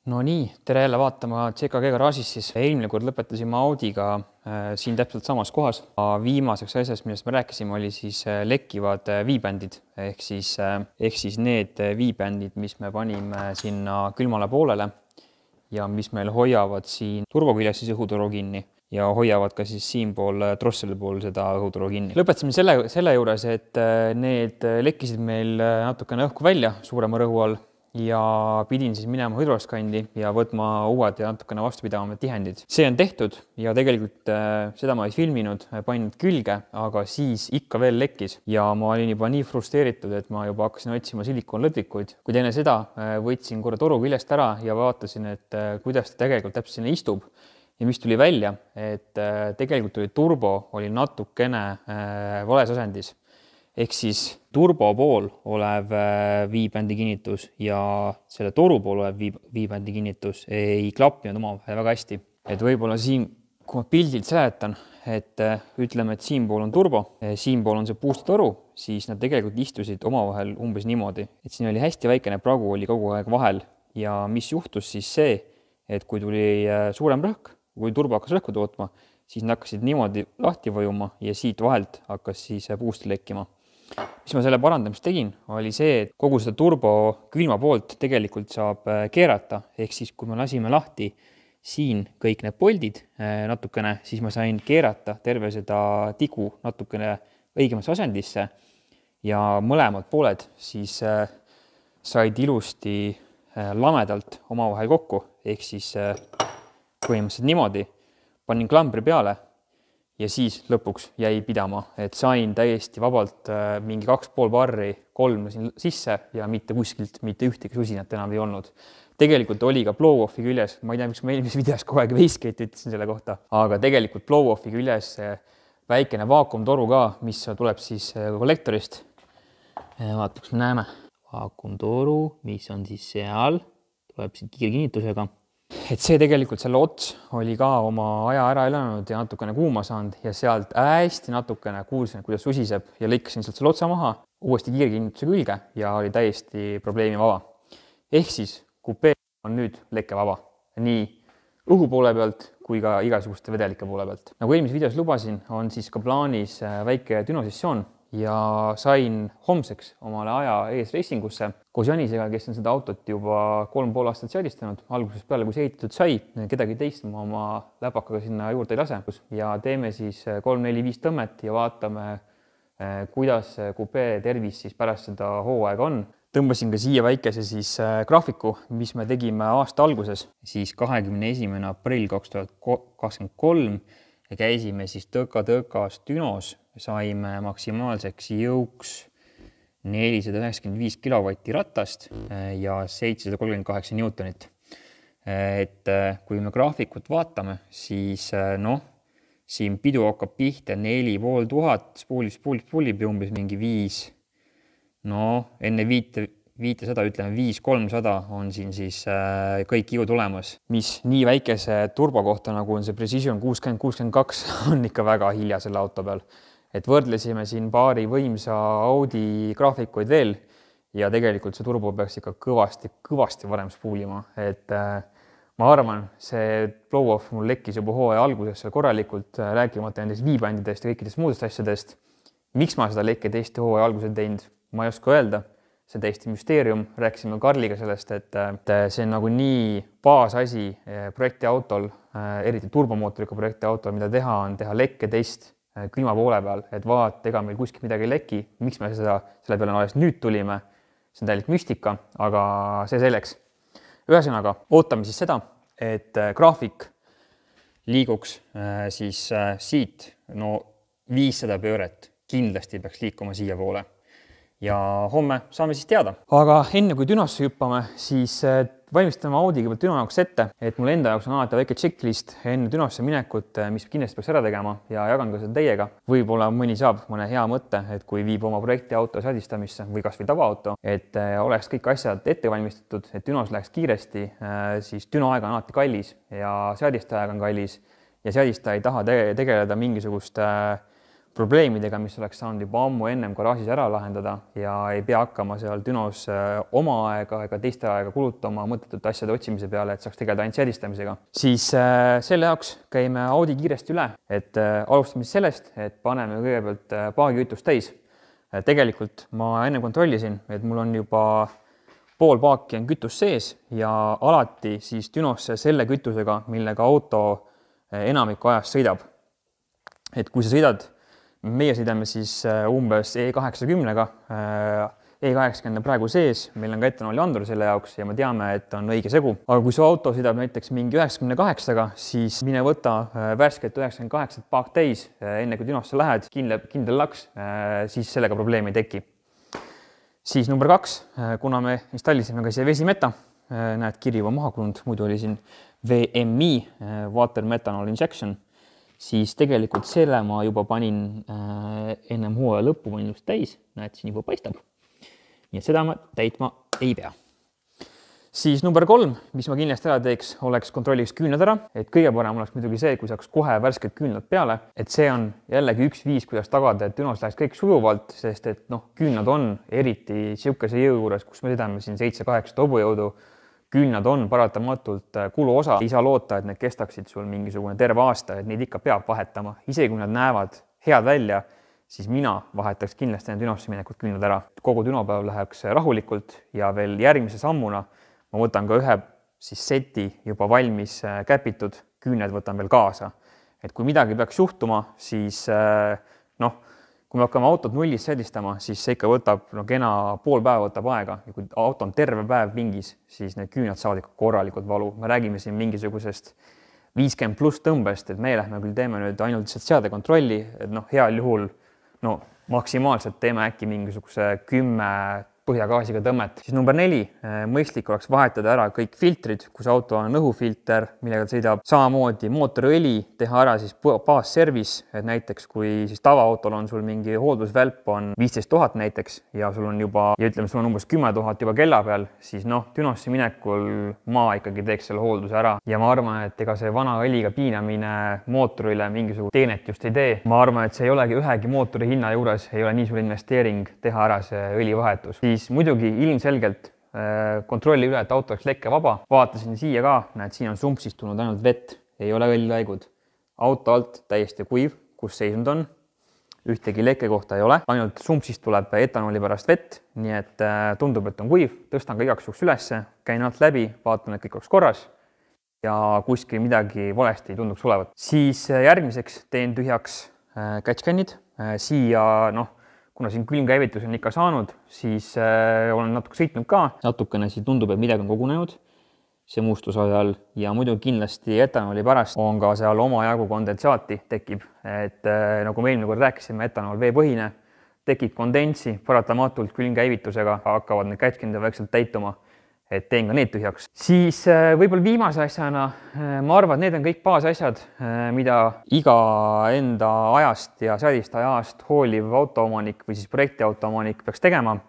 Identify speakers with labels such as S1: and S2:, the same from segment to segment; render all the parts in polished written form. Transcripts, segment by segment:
S1: No nii, tere jälle vaatama CKG garaažis siis. Eelmine kord lõpetasime Audiga siin täpselt samas kohas. Viimaseks asjast, millest me rääkisime, oli siis lekkivad viibändid ehk siis need viibändid, mis me panime sinna külmale poolele ja mis meil hoiavad siin turboküljes siis õhuturu kinni ja hoiavad ka siis siinpool trosseli pool seda õhuturu kinni. Lõpetasime selle juures, et need lekkisid meil natukene õhku välja suurema rõhu all ja pidin siis minema hüdroskandi ja võtma uued ja natukene vastupidavamad tihendid. See on tehtud ja tegelikult seda ma ei filminud, panin külge, aga siis ikka veel lekkis ja ma olin juba nii frustreeritud, et ma juba hakkasin otsima silikoonlõtikuid. Kuid enne seda võtsin korra toru küljest ära ja vaatasin, et kuidas ta tegelikult täpselt sinna istub ja mis tuli välja, et tegelikult oli turbo oli natukene vales asendis. Ehk siis turbo pool olev viibändi kinnitus ja selle toru pool olev viibändi kinnitus ei klappinud omavahel väga hästi. Et võib-olla siin, kui ma pildilt seletan, et ütleme, et siinpool on turbo, siinpool on see puustetoru, siis nad tegelikult istusid omavahel umbes niimoodi. Et siin oli hästi väikene pragu oli kogu aeg vahel ja mis juhtus siis see, et kui tuli suurem rõhk, kui turbo hakkas rõhku tootma, siis nad hakkasid niimoodi lahti vajuma ja siit vahelt hakkas siis puusti lekkima. Mis ma selle parandamist tegin, oli see, et kogu seda turbo külma poolt tegelikult saab keerata, ehk siis kui me lasime lahti siin kõik need poldid natukene, siis ma sain keerata terve seda tigu natukene õigemasse asendisse ja mõlemad pooled siis said ilusti lamedalt omavahel kokku, ehk siis põhimõtteliselt niimoodi panin klambri peale ja siis lõpuks jäi pidama, et sain täiesti vabalt mingi 2,5 barri 3 siin sisse ja mitte kuskilt mitte ühtegi susinat enam ei olnud. Tegelikult oli ka blow-off'i küljes, ma ei tea, miks ma eelmises videos kogu aeg Wastegate ütlesin selle kohta, aga tegelikult blow-off'i küljes väikene vaakumtoru ka, mis tuleb siis kollektorist. Vaata, kus me näeme. Vaakumtoru, mis on siis seal, tuleb siin kiirkinnitusega. Et see tegelikult selle ots oli ka oma aja ära elanud ja natukene kuuma saanud ja sealt hästi natukene kuulsin, kuidas susiseb ja lõikasin sealt selle otsa maha, uuesti kiirkinnituse külge ja oli täiesti probleemi vaba. Ehk siis kupee on nüüd lekke vaba, nii õhu poole pealt kui ka igasuguste vedelike poole pealt. Nagu eelmises videos lubasin, on siis ka plaanis väike dünosessioon ja sain homseks omale aja ees reisingusse koos Janisega, kes on seda autot juba 3,5 aastat seadistanud. Algusest peale, kui see ehitatud sai, kedagi teist ma oma läpakaga sinna juurde ei lase ja teeme siis 3-4-5 tõmmet ja vaatame, kuidas kupee tervis siis pärast seda hooaega on. Tõmbasin ka siia väikese siis graafiku, mis me tegime aasta alguses, siis 21. aprill 2023 ja käisime siis tõka-tõkas dünos, saime maksimaalseks jõuks 495 kilovatti ratast ja 738 newtonit. Et kui me graafikut vaatame, siis siin pidu hakkab pihta 4500, spoolib ja umbes mingi 5. Enne 500, ütleme 5300 on siin siis kõik jõud olemas, mis nii väikese turbo kohta, nagu on see Precision 60-62, on ikka väga hilja selle auto peal. Et võrdlesime siin paari võimsa Audi graafikuid veel ja tegelikult see turbo peaks ikka kõvasti varem spoolima. Et ma arvan, see blow-off mul lekkis juba hooaja alguses korralikult, rääkimata nendest viibändidest ja kõikidest muudest asjadest. Miks ma seda lekke teiste hooaja alguses teinud? Ma ei oska öelda, see on täiesti müsteerium. Rääkisime Karliga sellest, et see on nagu nii baasasi projektiautol, eriti turbomootoriga projektiautol, mida teha on teha lekketest külma poole peal, et vaata, ega meil kuskil midagi ei leki. Miks me selle peale alles nüüd tulime? See on täielik müstika, aga see selleks. Ühesõnaga, ootame siis seda, et graafik liiguks siis siit 500 pööret kindlasti peaks liikuma siia poole. Ja homme saame siis teada. Aga enne kui dünosse hüppame, siis valmistame Audiga pealt düno jaoks ette, et mul enda jaoks on alati väike checklist enne dünosse minekut, mis kindlasti peaks ära tegema ja jagan ka seda teiega. Võib-olla mõni saab mõne hea mõtte, et kui viib oma projektiauto seadistamisse või kas või tavaauto, et oleks kõik asjad ette valmistatud, et dünos läheks kiiresti, siis dünoaeg on alati kallis ja seadistajaga on kallis ja seadistaja ei taha tegeleda mingisugust probleemidega, mis oleks saanud juba ammu ennem garaažis ära lahendada ja ei pea hakkama seal Dünos oma aega ega teiste aega kulutama mõttetute asjade otsimise peale, et saaks tegeleda ainult seadistamisega. Siis selle jaoks käime Audi kiiresti üle, et alustame sellest, et paneme kõigepealt paagikütust täis. Tegelikult ma enne kontrollisin, et mul on juba pool paaki on kütus sees ja alati siis Dünosse selle kütusega, millega auto enamiku ajast sõidab. Et kui sa sõidad, meie sõidame siis umbes E80-ga, E80 on praegu sees, meil on ka etanoli andur selle jaoks ja me teame, et on õige segu. Aga kui su auto sõidab näiteks mingi 98-ga, siis mine võta värsket 98 paak täis, enne kui Dünosse lähed, kindel laks, siis sellega probleemi ei teki. Siis number 2, kuna me installisime ka siia vesimeta, näed, kiri juba maha kulunud, muidu oli siin VMI, Water Methanol Injection, siis tegelikult selle ma juba panin ennem hooaja lõppu panin just täis, näed, siin juba paistab. Nii et seda ma täitma ei pea. Siis number 3, mis ma kindlasti ära teeks, oleks kontrolliks küünlad ära, et kõige parem oleks muidugi see, kui saaks kohe värsked küünlad peale, et see on jällegi üks viis, kuidas tagada, et Dünos läheks kõik sujuvalt, sest et küünlad on eriti siukese jõu juures, kus me sõidame siin 7-8 hobujõudu, küünlad on paratamatult kuluosa, ei saa loota, et need kestaksid sul mingisugune terve aasta, et neid ikka peab vahetama, isegi kui nad näevad head välja, siis mina vahetaks kindlasti enne Dünosse minekut küünlad ära. Kogu Dünopäev läheks rahulikult ja veel järgmise sammuna ma võtan ka ühe siis seti juba valmis käpitud küüned võtan veel kaasa. Et kui midagi peaks juhtuma, siis kui me hakkame autot nullist seadistama, siis see ikka võtab kena pool päeva võtab aega ja kui auto on terve päev pingis, siis need küünad saavad ikka korralikult valu. Me räägime siin mingisugusest 50 pluss tõmbest, et me lähme küll teeme nüüd ainult seadekontrolli, et heal juhul maksimaalselt teeme äkki mingisuguse 10 põhjagaasiga tõmmet. Siis number 4, mõistlik oleks vahetada ära kõik filtrid, kus auto on õhufilter, millega ta sõidab, samamoodi mootoriõli, teha ära siis baasservice, et näiteks kui siis tavaautol on sul mingi hooldusvälp on 15 000 näiteks ja sul on juba, ja ütleme, sul on umbes 10 000 juba kella peal, siis Dünosse minekul ma ikkagi teeks selle hoolduse ära ja ma arvan, et ega see vana õliga piinamine mootorile mingisugust teenet just ei tee. Ma arvan, et see ei olegi ühegi mootori hinna juures, ei ole nii suur investeering teha ära see õlivahetus. Siis muidugi ilmselgelt kontrolli üle, et auto oleks lekkevaba. Vaatasin siia ka, näed, siin on sumpsist tulnud ainult vett, ei ole õlilaigud. Auto alt täiesti kuiv, kus seisund on. Ühtegi lekke kohta ei ole, ainult sumpsist tuleb etanoli pärast vett, nii et tundub, et on kuiv. Tõstan ka igaks juhuks ülesse, käin alt läbi, vaatan, et kõik oleks korras ja kuskil midagi valesti ei tunduks olevat. Siis järgmiseks teen tühjaks catchcan'id. Siia, kuna siin külmkäivitus on ikka saanud, siis olen natuke sõitnud ka. Natukene siin tundub, et midagi on kogunenud see mustuse ajal ja muidu kindlasti etanoli pärast on ka seal omajagu kondentsaati tekib. Et nagu me eelmine kord rääkisime, etanol veepõhine, tekib kondentsi, paratamatult külmkäivitusega hakkavad need catchcan'id vaikselt täituma. Et teen ka need tühjaks. Siis võib-olla viimase asjana, ma arvan, et need on kõik baasasjad, mida iga enda ajast ja seadistaja ajast hooliv autoomanik või siis projektiautoomanik peaks tegema.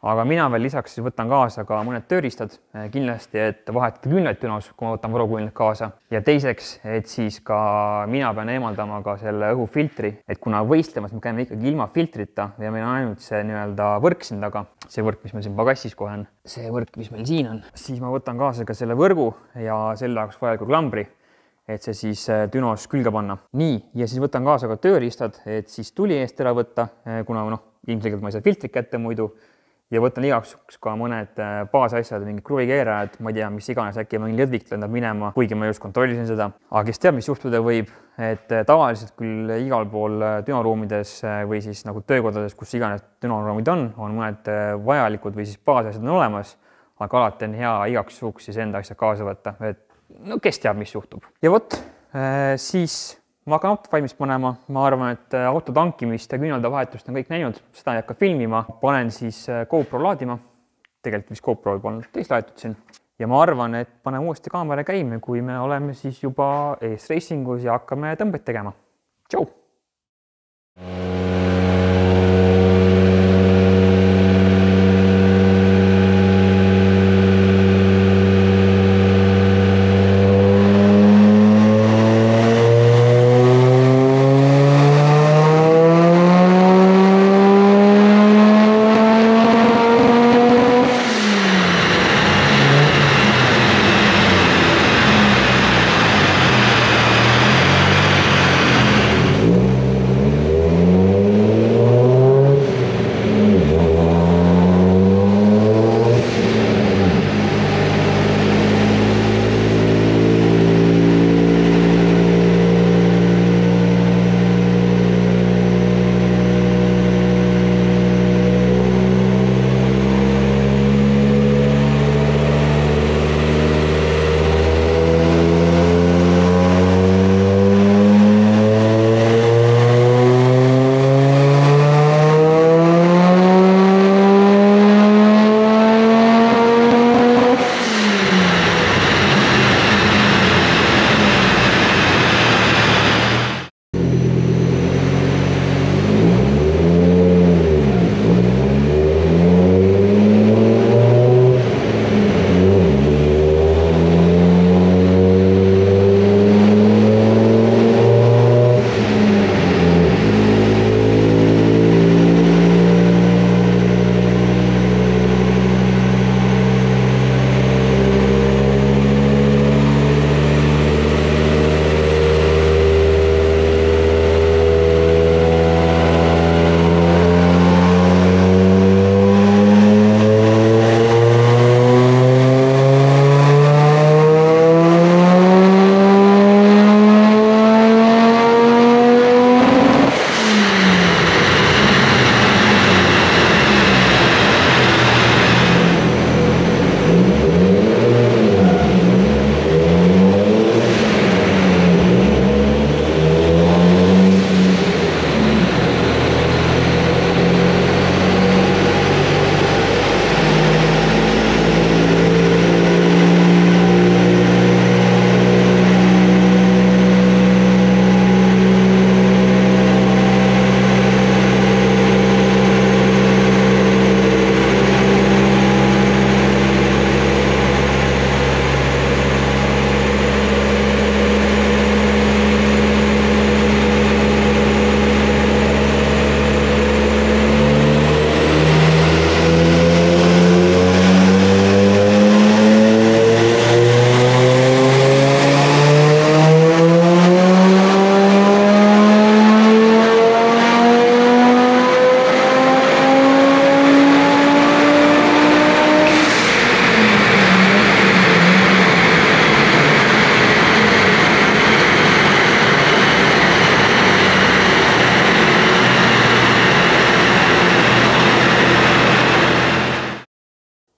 S1: Aga mina veel lisaks võtan kaasa ka mõned tööriistad, kindlasti, et vahetada küünlaid Dünos, kui ma võtan varuküünlad kaasa. Ja teiseks, et siis ka mina pean eemaldama ka selle õhufiltri, et kuna võistlemas me käime ikkagi ilma filtrita ja meil on ainult see võrk siin taga, see võrk, mis meil siin pagassis kohe on, see võrk, mis meil siin on, siis ma võtan kaasa ka selle võrgu ja selle jaoks vajaliku klambri, et see siis Dünos külge panna. Nii, ja siis võtan kaasa ka tööriistad, et siis tuli eest ära võtta, kuna ilmselgelt ma ei saa filtrit kätte muidu. Ja võtan igaks ka mõned baasasjad, mingid kruvikeerajad, ma ei tea, mis iganes, äkki mingi lõdvik lendab minema, kuigi ma just kontrollisin seda. Aga kes teab, mis juhtuda võib, et tavaliselt küll igal pool dünoruumides või siis nagu töökodades, kus iganes dünoruumid on mõned vajalikud või siis baasasjad on olemas, aga alati on hea igaks juhuks siis enda asja kaasa võtta, et kes teab, mis juhtub. Ja vot, siis ma hakkan autot valmis panema, ma arvan, et auto tankimist ja küünalde vahetust on kõik näinud, seda ei hakka filmima, panen siis GoPro laadima, tegelikult vist GoPro võib olla teist laetud siin ja ma arvan, et panen uuesti kaamera käima, kui me oleme siis juba ees reisingus ja hakkame tõmbeid tegema. Tšau!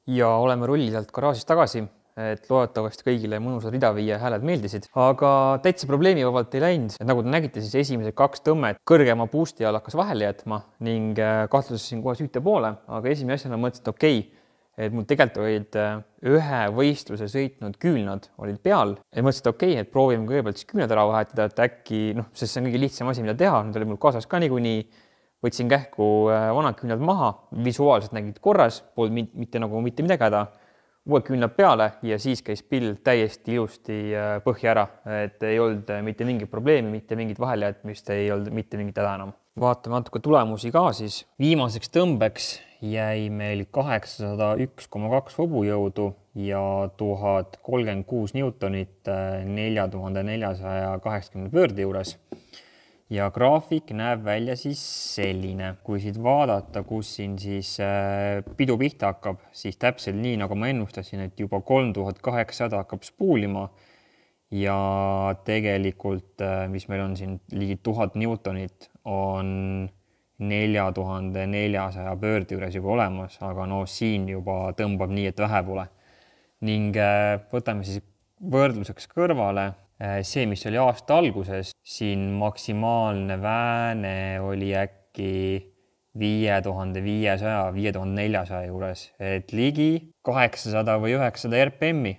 S1: ja oleme rullidelt garaažist tagasi, et loodetavasti kõigile mõnusad ridaviie hääled meeldisid, aga täitsa probleemivabalt ei läinud. Et nagu te nägite, siis esimesed 2 tõmmet kõrgema boost'i all hakkas vahele jätma ning kahtlustasin kohe süüte poole, aga esimene asjana mõtlesin, et okei, et mul tegelikult olid ühe võistluse sõitnud küünlad olid peal ja mõtlesin, et okei, et proovime kõigepealt siis küünlad ära vahetada, et äkki, sest see on kõige lihtsam asi, mida teha, need oli mul kaasas ka niikuinii, võtsin kähku vanad küünlad maha, visuaalselt nägid korras, polnud mitte midagi häda, uued küünlad peale ja siis käis pild täiesti ilusti põhja ära, et ei olnud mitte mingit probleemi, mitte mingit vahelijätmist, ei olnud mitte mingit häda enam. Vaatame natuke tulemusi ka siis. Viimaseks tõmbeks jäi meil 801,2 hobujõudu ja 1036 newtonit 4480 pöörde juures. Ja graafik näeb välja siis selline. Kui siit vaadata, kus siin siis pidu pihta hakkab, siis täpselt nii, nagu ma ennustasin, et juba 3800 hakkab spoolima ja tegelikult, mis meil on siin ligi 1000 newtonit, on 4400 pöörde juures juba olemas, aga siin juba tõmbab nii, et vähe pole. Ning võtame siis võrdluseks kõrvale see, mis oli aasta alguses, siin maksimaalne vääne oli äkki 5500-5400 juures, et ligi 800 või 900 RPM-i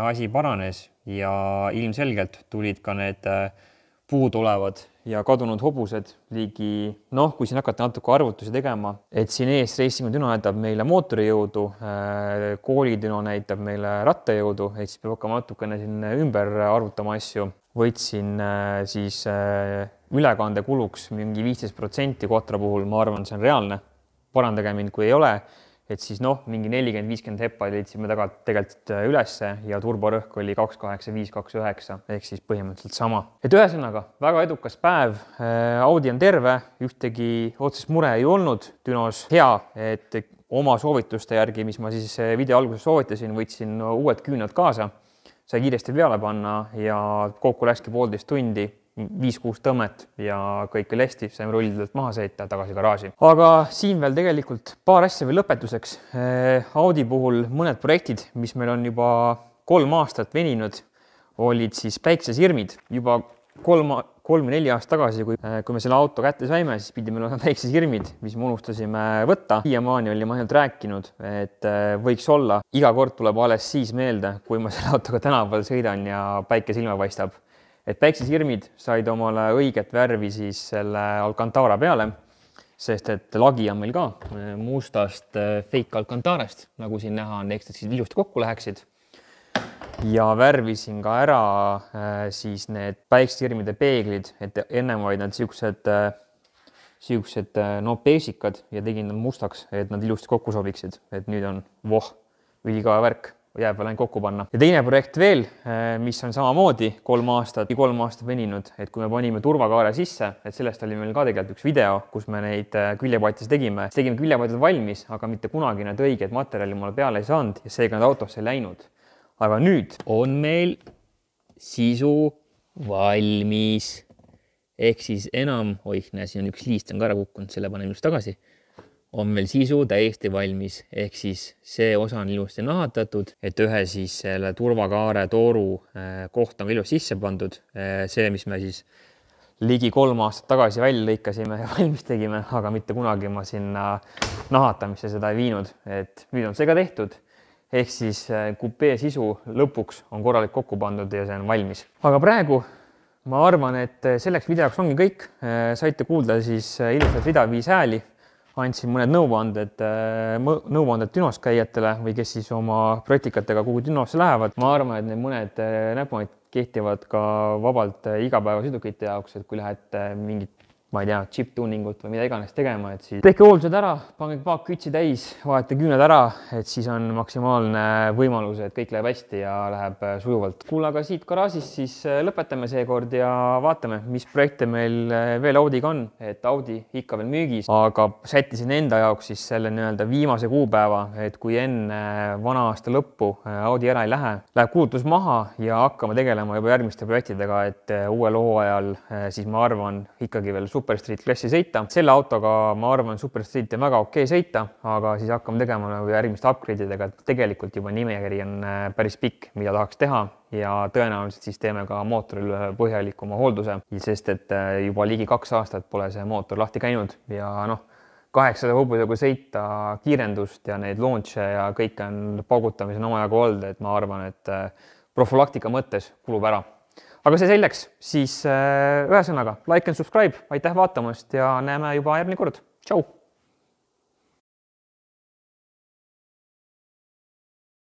S1: asi paranes ja ilmselgelt tulid ka need puudulevad ja kadunud hobused ligi, kui siin hakata natuke arvutusi tegema, et siin ees Racing Düno näitab meile mootorijõudu, koolidüno näitab meile rattajõudu, et siis peab hakkama natukene siin ümber arvutama asju. Võtsin siis ülekande kuluks mingi 15% Quattro puhul, ma arvan, see on reaalne. Parandage mind, kui ei ole. Et siis mingi 40-50 heppa leidsime tegelikult ülesse ja turborõhk oli 285-29 ehk siis põhimõtteliselt sama. Et ühesõnaga, väga edukas päev, Audi on terve, ühtegi otsest mure ei olnud Dünos. Hea, et oma soovituste järgi, mis ma siis video alguses soovitasin, võtsin uued küünad kaasa, sai kiiresti peale panna ja kokku läkski 1,5 tundi. 5-6 tõmmet ja kõik oli hästi, saime rullidelt maha sõita tagasi garaaži. Aga siin veel tegelikult paar asja veel lõpetuseks. Audi puhul mõned projektid, mis meil on juba 3 aastat veninud, olid siis päiksesirmid. Juba 3-4 aastat tagasi, kui me selle auto kätte saime, siis pidi meil olema päiksesirmid, mis me unustasime võtta. Siiamaani oli ma ainult rääkinud, et võiks olla. Iga kord tuleb alles siis meelde, kui ma selle autoga tänaval sõidan ja päike silma paistab. Et päiksesirmid said omale õiget värvi siis selle Alcantara peale, sest et lagi on meil ka mustast fake Alcantarast, nagu siin näha on, eks siis ilusti kokku läheksid. Ja värvisin ka ära siis need päiksesirmide peeglid, et ennem olid nad siuksed peesikad ja tegin nad mustaks, et nad ilusti kokku sobiksid. Et nüüd on ülikaua värk. Jääb veel ainult kokku panna. Ja teine projekt veel, mis on samamoodi 3 aastat veninud, et kui me panime turvakaare sisse, et sellest oli meil ka tegelikult üks video, kus me neid küljepatise tegime. Tegime küljepatid valmis, aga mitte kunagi need õiged materjali mulle peale ei saanud ja seega nad autosse ei läinud. Aga nüüd on meil sisu valmis. Ehk siis enam, siin on üks liist on ka ära kukkunud, selle panen just tagasi. On meil sisu täiesti valmis, ehk siis see osa on ilusti nahatatud, et ühe siis selle turvakaare tooru koht on ilusti sisse pandud. See, mis me siis ligi 3 aastat tagasi välja lõikasime ja valmis tegime, aga mitte kunagi ma sinna nahatamisse seda ei viinud, et nüüd on see ka tehtud. Ehk siis kupee sisu lõpuks on korralik kokku pandud ja see on valmis. Aga praegu ma arvan, et selleks videoks ongi kõik. Saite kuulda siis ilusat ridaviis hääli. Andsin mõned nõuanded Dünos käijatele või kes siis oma projektikatega kuhu Dünosse lähevad. Ma arvan, et need mõned näpunid kehtivad ka vabalt igapäevasõidukite jaoks, et kui lähed mingit, ma ei tea, chip-tuningut või mida iganes tegema, et siis tehke hooldused ära, pange paak kütsi täis, vaadete küüned ära, et siis on maksimaalne võimalus, et kõik läheb hästi ja läheb sujuvalt. Kuule, aga siit garaažist siis lõpetame seekord ja vaatame, mis projekte meil veel Audiga on, et Audi ikka veel müügis, aga sättisin enda jaoks siis selle viimase kuupäeva, et kui enne vana aasta lõppu Audi ära ei lähe, läheb kuulutus maha ja hakkame tegelema juba järgmiste projektidega, et uuel hooajal siis ma arvan ikkagi veel Super Street klassi sõita. Selle autoga ma arvan, Super Street on väga okei sõita, aga siis hakkame tegema nagu järgmiste upgrade'idega, et tegelikult juba nimekiri on päris pikk, mida tahaks teha ja tõenäoliselt siis teeme ka mootoril põhjalikuma hoolduse, sest et juba ligi 2 aastat pole see mootor lahti käinud ja 800 hobusega sõita, kiirendust ja neid launch'e ja kõik on paugutamise on omajagu olnud, et ma arvan, et profülaktika mõttes kulub ära. Aga see selleks, siis ühesõnaga like and subscribe, aitäh vaatamast ja näeme juba järgmine kord. Tšau!